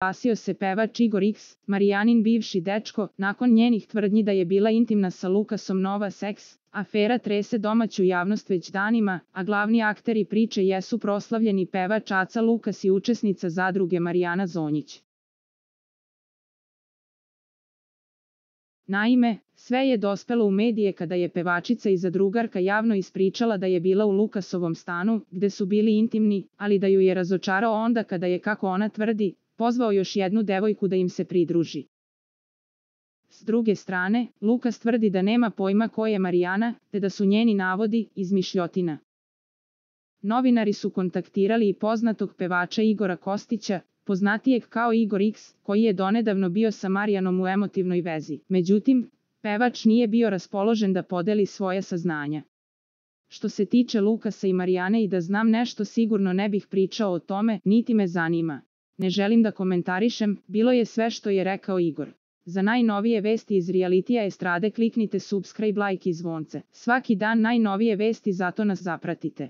oglasio se pevač Igor X, Marijanin bivši dečko, nakon njenih tvrdnji da je bila intimna sa Lukasom Nova Seks. Afera trese domaću javnost već danima, a glavni akteri priče jesu proslavljeni pevač Aca Lukas i učesnica zadruge Marijana Zonjić. Naime, sve je dospelo u medije kada je pevačica i zadrugarka javno ispričala da je bila u Lukasovom stanu, gde su bili intimni, ali da ju je razočarao onda kada je, kako ona tvrdi, pozvao još jednu devojku da im se pridruži. S druge strane, Lukas tvrdi da nema pojma ko je Marijana, te da su njeni navodi izmišljotina. Novinari su kontaktirali i poznatog pevača Igora Kostića, poznatijeg kao Igor X, koji je donedavno bio sa Marijanom u emotivnoj vezi. Međutim, pevač nije bio raspoložen da podeli svoje saznanja. Što se tiče Lukasa i Marijane, i da znam nešto sigurno ne bih pričao o tome, niti me zanima. Ne želim da komentarišem, bilo je sve što je rekao Igor. Za najnovije vesti iz realitija estrade kliknite subscribe, like i zvonce. Svaki dan najnovije vesti, zato nas zapratite.